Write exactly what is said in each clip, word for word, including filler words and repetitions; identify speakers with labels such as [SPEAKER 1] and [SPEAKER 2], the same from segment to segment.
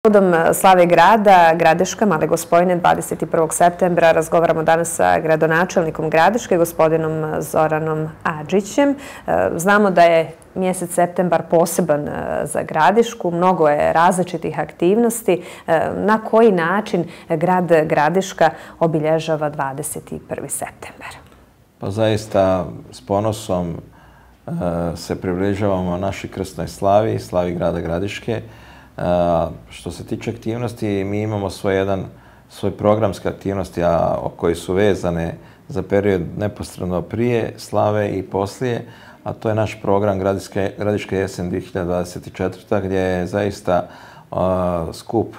[SPEAKER 1] Povodom slave grada, Gradiška, Male Gospojine, dvadeset prvog septembra razgovaramo danas sa gradonačelnikom Gradiške, gospodinom Zoranom Adžićem. Znamo da je mjesec septembar poseban za Gradišku, mnogo je različitih aktivnosti. Na koji način grad Gradiška obilježava dvadeset prvi septembar?
[SPEAKER 2] Pa zaista s ponosom se približavamo našoj krstnoj slavi, slavi grada Gradiške. Što se tiče aktivnosti, mi imamo svoj jedan svoj programske aktivnosti, a koji su vezane za period neposredno prije slave i poslije, a to je naš program Gradiška jesen dvije hiljade dvadeset četvrta. gdje je zaista skup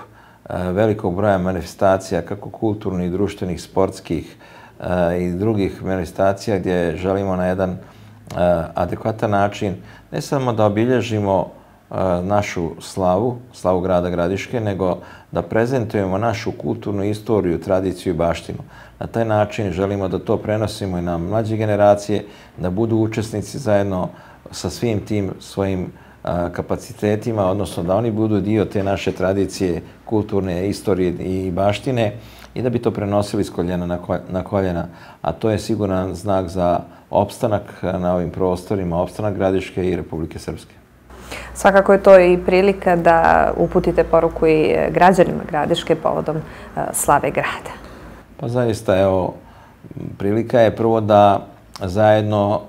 [SPEAKER 2] velikog broja manifestacija, kako kulturnih, društvenih, sportskih i drugih manifestacija, gdje želimo na jedan adekvatan način ne samo da obilježimo našu slavu, slavu grada Gradiške, nego da prezentujemo našu kulturnu istoriju, tradiciju i baštinu. Na taj način želimo da to prenosimo i na mlađe generacije, da budu učesnici zajedno sa svim tim svojim kapacitetima, odnosno da oni budu dio te naše tradicije, kulturne istorije i baštine i da bi to prenosili s koljena na koljena. A to je siguran znak za opstanak na ovim prostorima, opstanak Gradiške i Republike Srpske.
[SPEAKER 1] Svakako je to i prilika da uputite poruku i građanima Gradiške povodom slave grada.
[SPEAKER 2] Pa zaista, evo, prilika je prvo da zajedno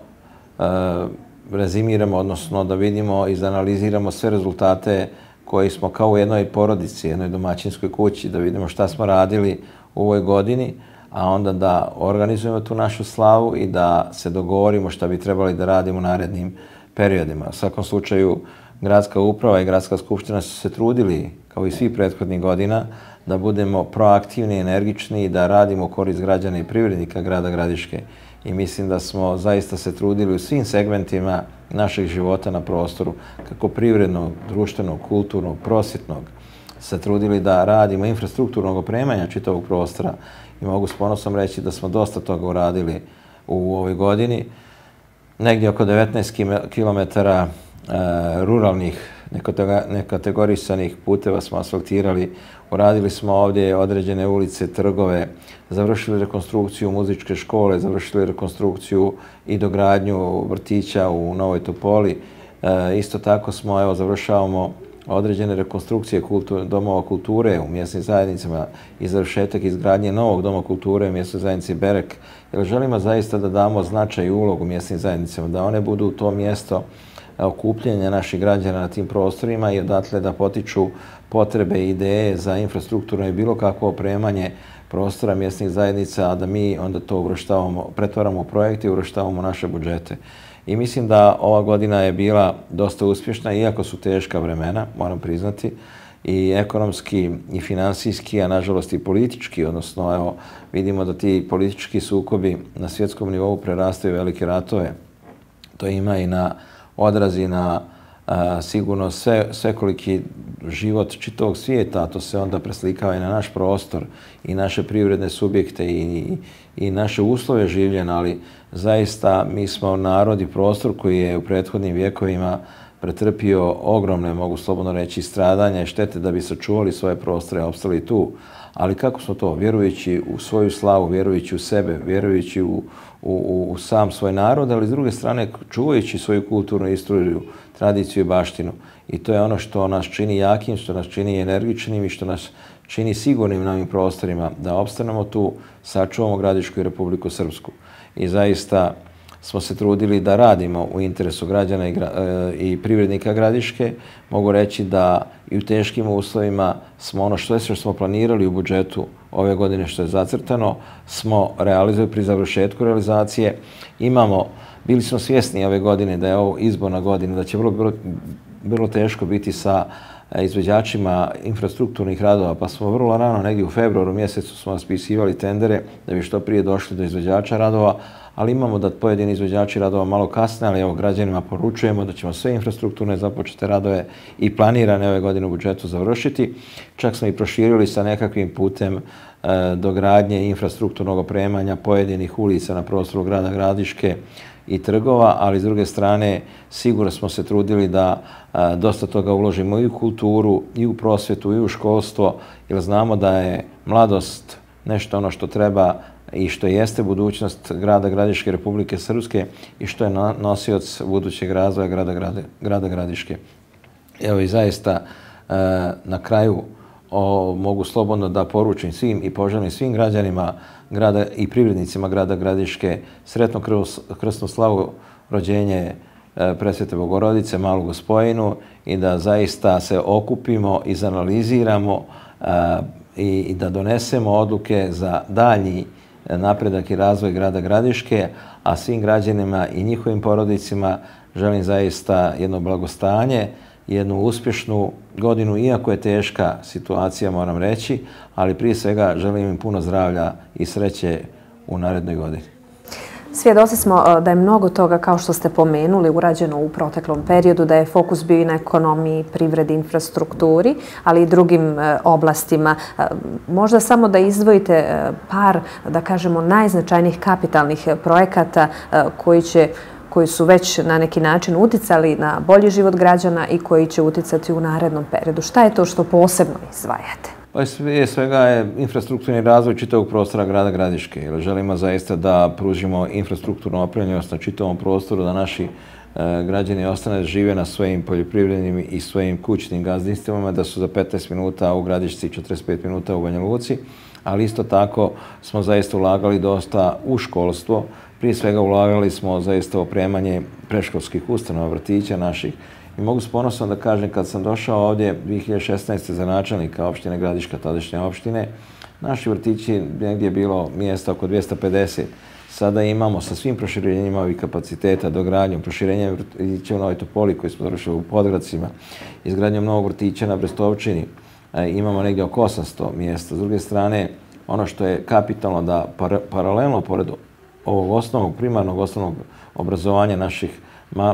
[SPEAKER 2] rezimiramo, odnosno da vidimo i izanaliziramo sve rezultate koji smo kao u jednoj porodici, jednoj domaćinskoj kući, da vidimo šta smo radili u ovoj godini, a onda da organizujemo tu našu slavu i da se dogovorimo šta bi trebali da radimo u narednim periodima. U svakom slučaju, gradska uprava i gradska skupština su se trudili, kao i svih prethodnih godina, da budemo proaktivni, energični i da radimo u korist građana i privrednika grada Gradiške. I mislim da smo zaista se trudili u svim segmentima našeg života na prostoru, kako privrednog, društvenog, kulturnog, prosvjetnog, se trudili da radimo infrastrukturnog opremanja čitavog prostora. I mogu s ponosom reći da smo dosta toga uradili u ovoj godini. Negdje oko devetnaest kilometara ruralnih nekategorisanih puteva smo asfaltirali. Uradili smo ovdje određene ulice, trgove, završili rekonstrukciju muzičke škole, završili rekonstrukciju i dogradnju vrtića u Novoj Topoli. Isto tako smo, evo, završavamo određene rekonstrukcije domova kulture u mjesnim zajednicama i završetak izgradnje novog doma kulture u mjesnoj zajednici Berek. Jer želimo zaista da damo značaj i ulogu mjesnim zajednicama, da one budu to mjesto okupljenja naših građana na tim prostorima i odatle da potiču potrebe i ideje za infrastrukturno i bilo kakvo opremanje prostora mjesnih zajednica, a da mi onda to uvrštavamo, pretvaramo u projekte i uvrštavamo u naše budžete. I mislim da ova godina je bila dosta uspješna, iako su teška vremena, moram priznati, i ekonomski i finansijski, a nažalost i politički, odnosno evo, vidimo da ti politički sukobi na svjetskom nivou prerastaju velike ratove. To ima i na odrazi na a, sigurno sve, svekoliki život čitavog svijeta, a to se onda preslikava i na naš prostor i naše privredne subjekte i, i, i naše uslove življenja, ali zaista mi smo narod i prostor koji je u prethodnim vjekovima pretrpio ogromne, mogu slobodno reći, stradanja i štete da bi sačuvali svoje prostore i opstali tu. Ali kako smo to? Vjerujući u svoju slavu, vjerujući u sebe, vjerujući u, u, u sam svoj narod, ali s druge strane čuvajući svoju kulturnu istoriju, tradiciju i baštinu. I to je ono što nas čini jakim, što nas čini energičnim i što nas čini sigurnim na ovim prostorima, da opstanemo tu, sačuvamo Gradišku i Republiku Srpsku. I zaista smo se trudili da radimo u interesu građana i, i privrednika Gradiške. Mogu reći da i u teškim uslovima smo ono što, što smo planirali u budžetu ove godine što je zacrtano, smo realizovali pri završetku realizacije. Imamo, bili smo svjesni ove godine da je ovo izborna godina, da će vrlo, vrlo, vrlo teško biti sa izvođačima infrastrukturnih radova, pa smo vrlo rano, negdje u februaru mjesecu smo raspisivali tendere da bi što prije došli do izvođača radova, ali imamo da pojedini izvođači radova malo kasne, ali evo građanima poručujemo da ćemo sve infrastrukturne započete radove i planirane ove godine u budžetu završiti. Čak smo i proširili sa nekakvim putem e, dogradnje infrastrukturnog opremanja pojedinih ulica na prostoru grada Gradiške i trgova, ali s druge strane sigurno smo se trudili da dosta toga uložimo i u kulturu, i u prosvjetu, i u školstvo, jer znamo da je mladost nešto ono što treba i što jeste budućnost grada Gradiške, Republike Srpske i što je nosioc budućeg razvoja grada, grada, grada Gradiške. Evo i zaista na kraju o, mogu slobodno da poručim svim i poželim svim građanima grada i privrednicima grada Gradiške sretno krsnu slavu rođenje Presvete Bogorodice, Malu Gospojinu i da zaista se okupimo, izanaliziramo i, i da donesemo odluke za dalji napredak i razvoj grada Gradiške, a svim građanima i njihovim porodicima želim zaista jedno blagostanje, jednu uspješnu godinu, iako je teška situacija, moram reći, ali prije svega želim im puno zdravlja i sreće u narednoj godini.
[SPEAKER 1] Svjedoci smo da je mnogo toga, kao što ste pomenuli, urađeno u proteklom periodu, da je fokus bio i na ekonomiji, privredi, infrastrukturi, ali i drugim oblastima. Možda samo da izdvojite par, da kažemo, najznačajnijih kapitalnih projekata koji će koji su već na neki način uticali na bolji život građana i koji će uticati u narednom periodu. Šta je to što posebno izdvajate?
[SPEAKER 2] Pa sve svega je infrastrukturni razvoj čitavog prostora grada Gradiške. Jer želimo zaista da pružimo infrastrukturnu opremljenost na čitavom prostoru, da naši građani ostane žive na svojim poljoprivrednim i svojim kućnim gazdinstvima, da su za petnaest minuta u Gradišci i četrdeset pet minuta u Banja Luci. Ali isto tako smo zaista ulagali dosta u školstvo. Prije svega ulagali smo zaista u opremanje predškolskih ustanova, vrtića naših. I mogu s ponosom da kažem, kad sam došao ovdje dvije hiljade šesnaeste. za načelnika opštine Gradiška, tadašnje opštine, naši vrtići negdje je bilo mjesta oko dvjesto pedeset. Sada imamo sa svim proširenjima ovih kapaciteta, dogradnjom, proširenjem vrtića u Novoj Topoli koji smo završili u Podgradcima, izgradnjom novog vrtića na Brestovčini, imamo negdje oko osamsto mjesta. S druge strane, ono što je kapitalno da par paralelno pored ovog osnovnog, primarnog osnovnog obrazovanja naših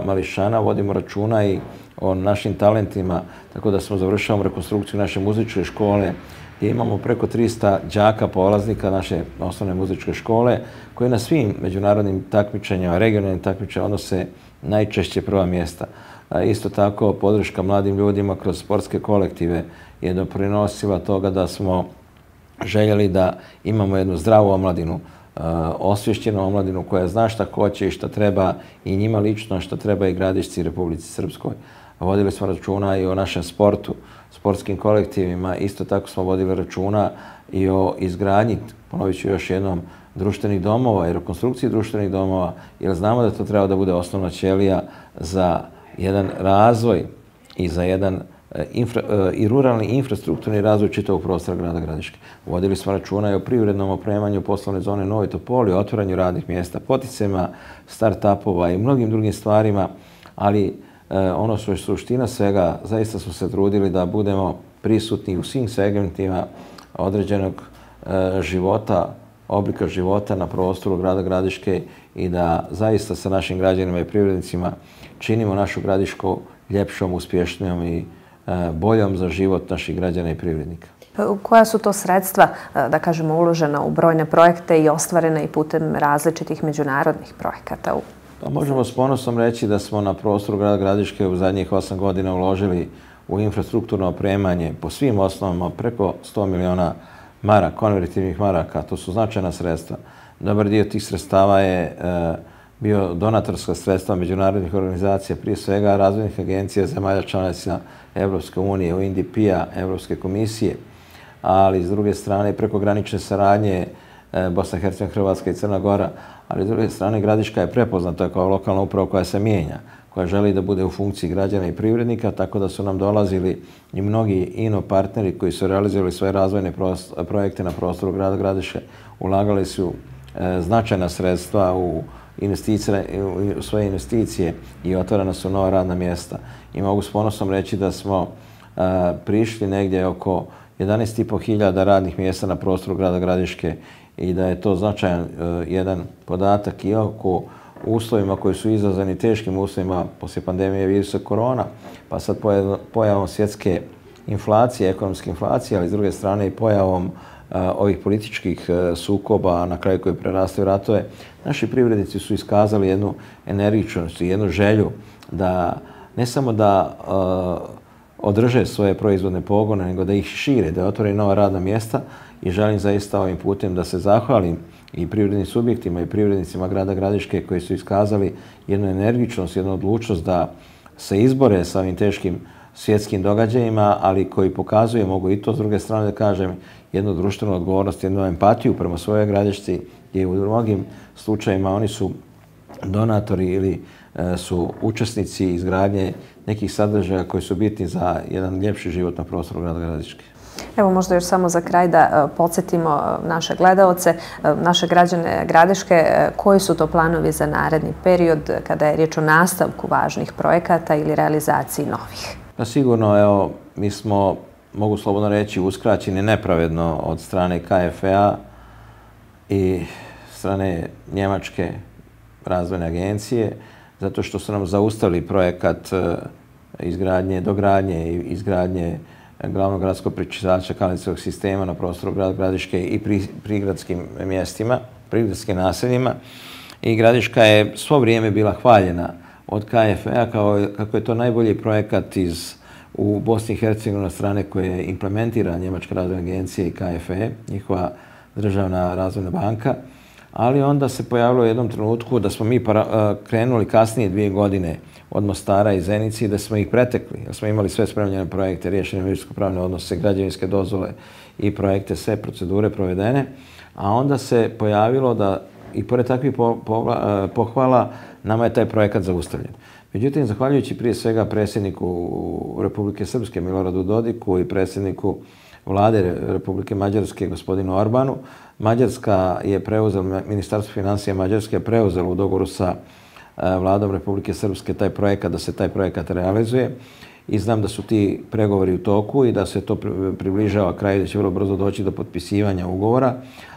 [SPEAKER 2] mališana vodimo računa i o našim talentima, tako da smo završavamo rekonstrukciju naše muzičke škole gdje imamo preko trista đaka polaznika naše osnovne muzičke škole koje na svim međunarodnim takmičenjima, regionalnim takmičenjima odnose najčešće prva mjesta. Isto tako podrška mladim ljudima kroz sportske kolektive je doprinosila toga da smo željeli da imamo jednu zdravu omladinu, osvješćenu omladinu koja zna šta hoće i šta treba i njima lično šta treba i Gradišci i Republici Srpskoj. Vodili smo računa i o našem sportu, sportskim kolektivima. Isto tako smo vodili računa i o izgradnji, ponovit ću još jednom, društvenih domova i rekonstrukciji društvenih domova, jer znamo da to treba da bude osnovna ćelija za jedan razvoj i za jedan Infra, i ruralni infrastrukturni razvoj čitavog prostora grada Gradiške. Vodili smo računa i o privrednom opremanju poslovne zone Novoj Topoli, o otvaranju radnih mjesta, poticajima start-upova i mnogim drugim stvarima, ali eh, ono što je suština svega, zaista smo se trudili da budemo prisutni u svim segmentima određenog eh, života, oblika života na prostoru grada Gradiške i da zaista sa našim građanima i privrednicima činimo našu Gradišku ljepšom, uspješnijom i boljom za život naših građana i privrednika.
[SPEAKER 1] Koja su to sredstva, da kažemo, uložena u brojne projekte i ostvarene i putem različitih međunarodnih projekata?
[SPEAKER 2] Pa možemo s ponosom reći da smo na prostoru grada Gradiške u zadnjih osam godina uložili u infrastrukturno opremanje po svim osnovama preko sto miliona maraka, konvertivnih maraka. To su značajna sredstva. Dobar dio tih sredstava je bio donatorska sredstva međunarodnih organizacija, prije svega razvojnih agencija zemalja članica Evropske unije, U N D P-a, Evropske komisije, ali s druge strane prekogranične saradnje Bosna i Hercegovina, Hrvatska i Crna Gora, ali s druge strane Gradiška je prepoznata kao lokalna uprava koja se mijenja, koja želi da bude u funkciji građana i privrednika, tako da su nam dolazili i mnogi ino partneri koji su realizovali svoje razvojne projekte na prostoru grada Gradiške, ulagali su značajna sredstva u u svoje investicije i otvorena su nova radna mjesta. I mogu s ponosom reći da smo prišli negdje oko jedanaest i po hiljada radnih mjesta na prostoru grada Gradiške i da je to značajan jedan podatak i oko uslovima koji su izazvani teškim uslovima poslije pandemije virusa korona, pa sad pojavom svjetske inflacije, ekonomske inflacije, ali s druge strane i pojavom ovih političkih sukoba, na kraju koji prerastaju ratove, naši privrednici su iskazali jednu energičnost i jednu želju da ne samo da održe svoje proizvodne pogone, nego da ih šire, da otvore nova radna mjesta i želim zaista ovim putem da se zahvalim i privrednim subjektima i privrednicima grada Gradiške koji su iskazali jednu energičnost, jednu odlučnost da se izbore sa ovim teškim svjetskim događajima, ali koji pokazuje, mogu i to s druge strane da kažem, jednu društvenu odgovornost, jednu empatiju prema svojoj Gradišci, gdje u mnogim slučajima oni su donatori ili su učesnici izgradnje nekih sadržaja koji su bitni za jedan ljepši život na prostoru grada Gradiške.
[SPEAKER 1] Evo možda još samo za kraj da podsjetimo naše gledaoce, naše građane Gradiške, koji su to planovi za naredni period kada je riječ o nastavku važnih projekata ili realizaciji novih?
[SPEAKER 2] Pa sigurno, evo, mi smo, mogu slobodno reći, uskraćeni nepravedno od strane K F E-a i strane Njemačke razvojne agencije, zato što su nam zaustavili projekat izgradnje, dogradnje i izgradnje glavnog gradskog prečistača kanalizacijskog sistema na prostoru grada Gradiške i prigradskim mjestima, prigradskim naseljima. I Gradiška je svo vrijeme bila hvaljena od K F E-a kao kako je to najbolji projekat iz, u Bosni i Hercegovini na strane koje implementira Njemačka razvojna agencija i K F E, njihova državna razvojna banka. Ali onda se pojavilo u jednom trenutku da smo mi krenuli kasnije dvije godine od Mostara i Zenice i da smo ih pretekli. Da smo imali sve spremljene projekte, riješene imovinsko-pravne odnose, građevinske dozvole i projekte, sve procedure provedene. A onda se pojavilo da i pored takvih pohvala nama je taj projekat zaustavljen. Međutim, zahvaljujući prije svega predsjedniku Republike Srpske Miloradu Dodiku i predsjedniku vlade Republike Mađarske gospodinu Orbanu, Mađarska je preuzela, Ministarstvo financija Mađarske je preuzelo u dogovoru sa vladom Republike Srpske taj projekat, da se taj projekat realizuje. I znam da su ti pregovori u toku i da se to približava kraju, da će vrlo brzo doći do potpisivanja ugovora.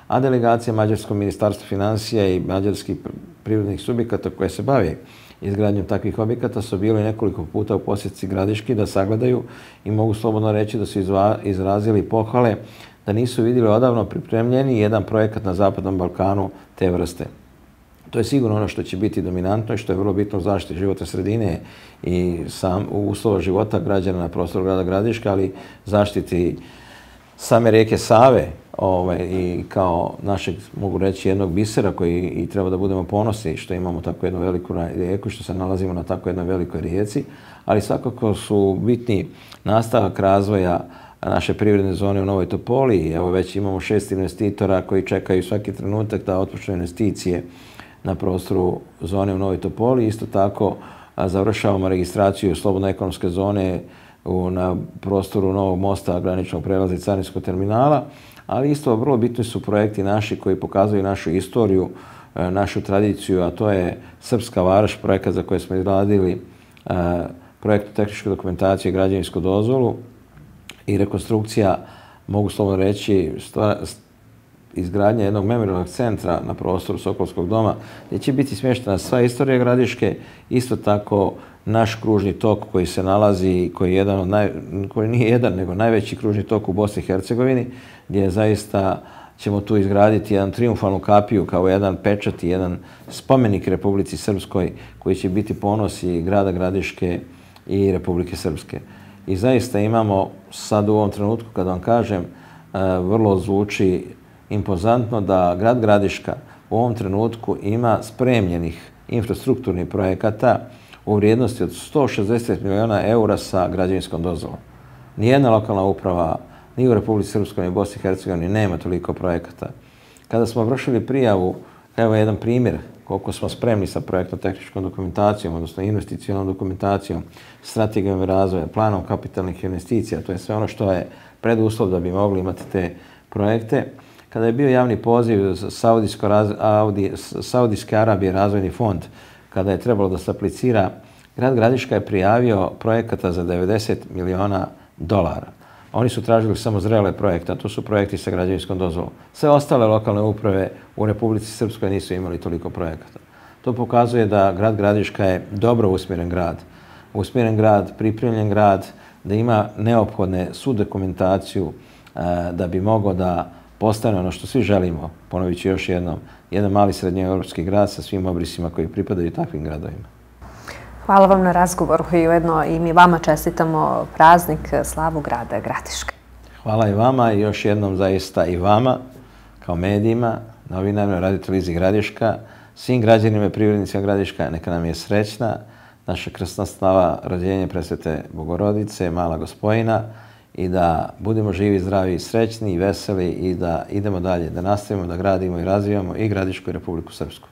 [SPEAKER 2] A delegacija Mađarskog ministarstva financija i mađarskih privrednih subjekata koje se bave izgradnjom takvih objekata su bili nekoliko puta u posjeci Gradiški da sagledaju i mogu slobodno reći da su izrazili pohvale da nisu vidjeli odavno pripremljeni jedan projekat na Zapadnom Balkanu te vrste. To je sigurno ono što će biti dominantno i što je vrlo bitno u zaštiti životne sredine i sam uslova života građana na prostoru grada Gradiška, ali zaštiti same rijeke Save ovaj, i kao našeg, mogu reći, jednog bisera koji i treba da budemo ponosni što imamo tako jednu veliku rijeku, što se nalazimo na tako jednoj velikoj rijeci, ali svakako su bitni nastavak razvoja naše privredne zone u Novoj Topoli. Evo već imamo šest investitora koji čekaju svaki trenutak da otpočnu investicije na prostoru zone u Novoj Topoli. Isto tako završavamo registraciju slobodno ekonomske zone na prostoru Novog mosta, graničnog prelaza i carinskog terminala, ali isto vrlo bitni su projekti naši koji pokazuju našu istoriju, našu tradiciju, a to je Srpska Varoš, projekat za koje smo izradili projektnu tehničku dokumentaciju i građevinsku dozvolu i rekonstrukcija, mogu slobodno reći, izgradnja jednog memorijalnog centra na prostoru Sokolskog doma, gdje će biti smještena sva istorija Gradiške, isto tako naš kružni tok koji se nalazi, koji je jedan od naj, koji nije jedan, nego najveći kružni tok u Bosni i Hercegovini, gdje zaista ćemo tu izgraditi jedan triumfalnu kapiju kao jedan pečat i jedan spomenik Republici Srpskoj koji će biti ponos i grada Gradiške i Republike Srpske. I zaista imamo sad u ovom trenutku, kada vam kažem, vrlo zvuči impozantno da grad Gradiška u ovom trenutku ima spremljenih infrastrukturnih projekata u vrijednosti od sto šezdeset miliona eura sa građevinskom dozvolom. Nijedna lokalna uprava, ni u Republici Srpskoj, ni u Bosni i Hercegovini nema toliko projekata. Kada smo vršili prijavu, evo jedan primjer koliko smo spremni sa projektno-tehničkom dokumentacijom, odnosno investicionalnom dokumentacijom, strategijom razvoja, planom kapitalnih investicija, to je sve ono što je preduslov da bi mogli imati te projekte. Kada je bio javni poziv Saudijske Arabije razvojni fond, kada je trebalo da se aplicira, grad Gradiška je prijavio projekata za devedeset miliona dolara. Oni su tražili samo zrele projekte, a to su projekti sa građevinskom dozvolom. Sve ostale lokalne uprave u Republici Srpskoj nisu imali toliko projekata. To pokazuje da grad Gradiška je dobro usmjeren grad. Usmjeren grad, pripremljen grad, da ima neophodne svu dokumentaciju da bi mogao da postane ono što svi želimo, ponovit ću još jednom, jedan mali srednjoevropski grad sa svim obrisima koji pripadaju takvim gradovima.
[SPEAKER 1] Hvala vam na razgovoru i ujedno i mi vama čestitamo praznik, slavu grada Gradiške.
[SPEAKER 2] Hvala i vama i još jednom zaista i vama, kao medijima, novinarima, Radio-televiziji Gradiška, svim građanima i privrednicima Gradiška, neka nam je srećna naša krsna slava rođenja Presvete Bogorodice, Mala Gospojina, i da budemo živi, zdravi, srećni i veseli i da idemo dalje, da nastavimo da gradimo i razvijamo i Gradišku i Republiku Srpsku.